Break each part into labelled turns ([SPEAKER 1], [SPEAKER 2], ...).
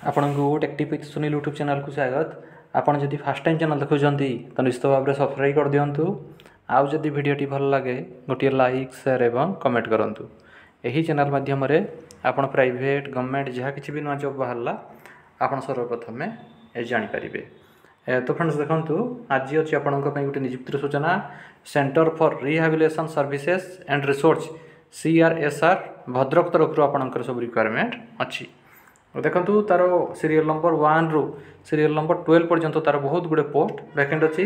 [SPEAKER 1] ଆପଣଙ୍କୁ tech tip with Sunil YouTube ଚ୍ୟାନେଲ୍କୁ ସ୍ୱାଗତ। ଆପଣ ଯଦି ଫାର୍ଷ୍ଟ ଟାଇମ୍ ଚ୍ୟାନେଲ୍ ଦେଖୁଛନ୍ତି, ତ ନିଶ୍ଚିତ ଭାବରେ ସବସ୍କ୍ରାଇବ୍ କରିଦିଅନ୍ତୁ। ଆଉ ଯଦି ଭିଡ଼ିଓଟି ଭଲ ଲାଗେ, ଗୋଟିଏ ଲାଇକ୍, ସେୟାର ଏବଂ କମେଣ୍ଟ କରନ୍ତୁ। ଏହି ଚ୍ୟାନେଲ୍ ମାଧ୍ୟମରେ ଆପଣ ପ୍ରାଇଭେଟ୍, ଗଭର୍ଣ୍ଣମେଣ୍ଟ ଯାହା କିଛି ବି ନୂଆ ଜବ୍ ବାହାରିଲା, ଆପଣ ସର୍ବପ୍ରଥମେ ଜାଣିପାରିବେ। ତ ଫ୍ରେଣ୍ଡସ୍, ଦେଖନ୍ତୁ, ଆଜି ଅଛି ଆପଣଙ୍କ ପାଇଁ ଗୋଟେ ନିଯୁକ୍ତିର ସୂଚନା। Centre for Rehabilitation Services and Research, CRSR, Bhadrak ତରଫରୁ ଆପଣଙ୍କର ସବୁ ରିକ୍ୱାରମେଣ୍ଟ ଅଛି। ଦେଖନ୍ତୁ, ତାର ସିରିଏଲ୍ ନମ୍ବର 1ରୁ ସିରିଏଲ୍ ନମ୍ବର 12 ପର୍ଯ୍ୟନ୍ତ ତାର ବହୁତ ଗୁଡ଼ିଏ ପୋଷ୍ଟ ଭ୍ୟାକେଣ୍ଟ ଅଛି,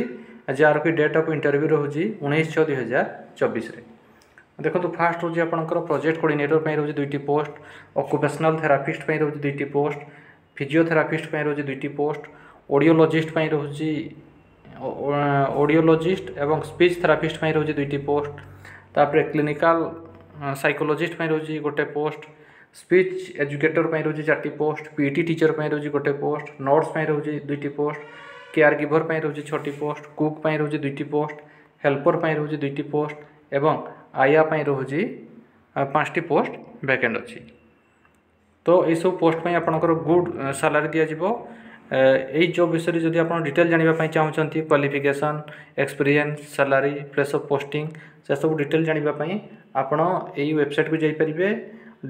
[SPEAKER 1] ଯାହାର କି ଡେଟ୍ ଅଫ୍ ଇଣ୍ଟରଭ୍ୟୁ ରହୁଛି 19/6/2024ରେ। ଦେଖନ୍ତୁ, ଫାଷ୍ଟ ରହୁଛି ଆପଣଙ୍କର ପ୍ରୋଜେକ୍ଟ କୋଅର୍ଡ଼ିନେଟର ପାଇଁ ରହୁଛି ଦୁଇଟି ପୋଷ୍ଟ, ଅକୁପେସନାଲ୍ ଥେରାପିଷ୍ଟ ପାଇଁ ରହୁଛି ଦୁଇଟି ପୋଷ୍ଟ, ଫିଜିଓଥେରାପିଷ୍ଟ ପାଇଁ ରହୁଛି ଦୁଇଟି ପୋଷ୍ଟ, ଅଡ଼ିଓଲୋଜିଷ୍ଟ ପାଇଁ ରହୁଛି, ଅଡ଼ିଓଲୋଜିଷ୍ଟ ଏବଂ ସ୍ପିଚ୍ ଥେରାପିଷ୍ଟ ପାଇଁ ରହୁଛି ଦୁଇଟି ପୋଷ୍ଟ। ତାପରେ କ୍ଲିନିକାଲ ସାଇକୋଲୋଜିଷ୍ଟ ପାଇଁ ରହୁଛି ଗୋଟେ ପୋଷ୍ଟ, ସ୍ପିଚ୍ ଏଜୁକେଟର ପାଇଁ ରହୁଛି ଚାରିଟି ପୋଷ୍ଟ, ପିଟି ଟିଚର ପାଇଁ ରହୁଛି ଗୋଟେ ପୋଷ୍ଟ, ନର୍ସ ପାଇଁ ରହୁଛି ଦୁଇଟି ପୋଷ୍ଟ, କେୟାର ଗିଭର ପାଇଁ ରହୁଛି ଛଅଟି ପୋଷ୍ଟ, କୁକ୍ ପାଇଁ ରହୁଛି ଦୁଇଟି ପୋଷ୍ଟ, ହେଲ୍ପର ପାଇଁ ରହୁଛି ଦୁଇଟି ପୋଷ୍ଟ ଏବଂ ଆୟା ପାଇଁ ରହୁଛି ପାଞ୍ଚଟି ପୋଷ୍ଟ ଭ୍ୟାକେଣ୍ଟ ଅଛି। ତ ଏଇସବୁ ପୋଷ୍ଟ ପାଇଁ ଆପଣଙ୍କର ଗୁଡ୍ ସାଲାରୀ ଦିଆଯିବ। ଏଇ ଜବ୍ ବିଷୟରେ ଯଦି ଆପଣ ଡିଟେଲ୍ ଜାଣିବା ପାଇଁ ଚାହୁଁଛନ୍ତି, qualification, experience, salary, place of posting, ସେସବୁ ଡିଟେଲ୍ ଜାଣିବା ପାଇଁ ଆପଣ ଏଇ ୱେବସାଇଟ୍କୁ ଯାଇପାରିବେ,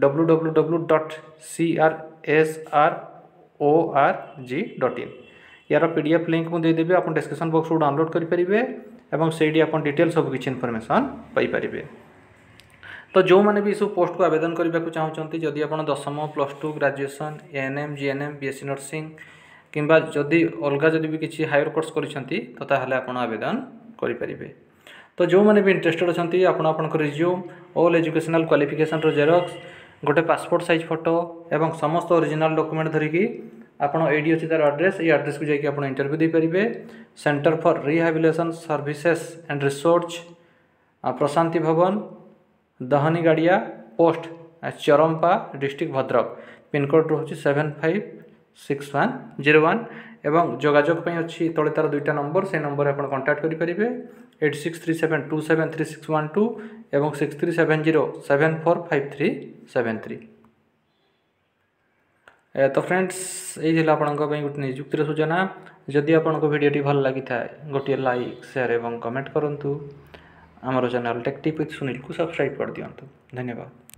[SPEAKER 1] www.CRSRORG.in। ୟାର ପିଡିଏଫ୍ ଲିଙ୍କ୍ ମୁଁ ଦେଇଦେବି, ଆପଣ ଡିସ୍କ୍ରିପ୍ସନ୍ ବକ୍ସରୁ ଡାଉନଲୋଡ଼୍ କରିପାରିବେ ଏବଂ ସେଇଠି ଆପଣ ଡିଟେଲ୍ ସବୁ କିଛି ଇନଫର୍ମେସନ୍ ପାଇପାରିବେ। ତ ଯେଉଁମାନେ ବି ଏସବୁ ପୋଷ୍ଟକୁ ଆବେଦନ କରିବାକୁ ଚାହୁଁଛନ୍ତି, ଯଦି ଆପଣ ଦଶମ, +2, graduation, ANM, GNM, BSc nursing କିମ୍ବା ଯଦି ଅଲଗା ଯଦି ବି କିଛି ହାୟର କୋର୍ସ କରିଛନ୍ତି, ତ ତାହେଲେ ଆପଣ ଆବେଦନ କରିପାରିବେ। ତ ଯେଉଁମାନେ ବି ଇଣ୍ଟରେଷ୍ଟେଡ଼ ଅଛନ୍ତି, ଆପଣ ଆପଣଙ୍କ ରିଜ୍ୟୁମ୍, ଅଲ୍ ଏଜୁକେସନାଲ୍ କ୍ୱାଲିଫିକେସନ୍ର ଜେରକ୍ସ, ଗୋଟେ ପାସପୋର୍ଟ ସାଇଜ୍ ଫଟୋ ଏବଂ ସମସ୍ତ ଅରିଜିନାଲ୍ ଡକୁମେଣ୍ଟ ଧରିକି ଆପଣ ଏଇଠି ଅଛି ତା'ର ଆଡ୍ରେସ୍, ଏଇ ଆଡ୍ରେସ୍କୁ ଯାଇକି ଆପଣ ଇଣ୍ଟରଭ୍ୟୁ ଦେଇପାରିବେ। Centre for Rehabilitation Services and Research, Prashanti Bhavan, ଦହନିଗାଡ଼ିଆ, post Charampa, district Bhadrak, pincode ରହୁଛି 756101। ଏବଂ ଯୋଗାଯୋଗ ପାଇଁ ଅଛି ତଳେ ତା'ର ଦୁଇଟା ନମ୍ବର, ସେଇ ନମ୍ବରରେ ଆପଣ କଣ୍ଟାକ୍ଟ କରିପାରିବେ, 8637273612 ଏବଂ 6370745373। ତ ଫ୍ରେଣ୍ଡସ୍, ଏଇ ଥିଲା ଆପଣଙ୍କ ପାଇଁ ଗୋଟେ ନିଯୁକ୍ତିର ସୂଚନା। ଯଦି ଆପଣଙ୍କୁ ଭିଡ଼ିଓଟି ଭଲ ଲାଗିଥାଏ, ଗୋଟିଏ ଲାଇକ୍, ସେୟାର ଏବଂ କମେଣ୍ଟ କରନ୍ତୁ। ଆମର ଚ୍ୟାନେଲ୍ ଟେକ୍ ଟିପ୍ ୱିଥ୍ ସୁନୀଲକୁ ସବସ୍କ୍ରାଇବ୍ କରିଦିଅନ୍ତୁ। ଧନ୍ୟବାଦ।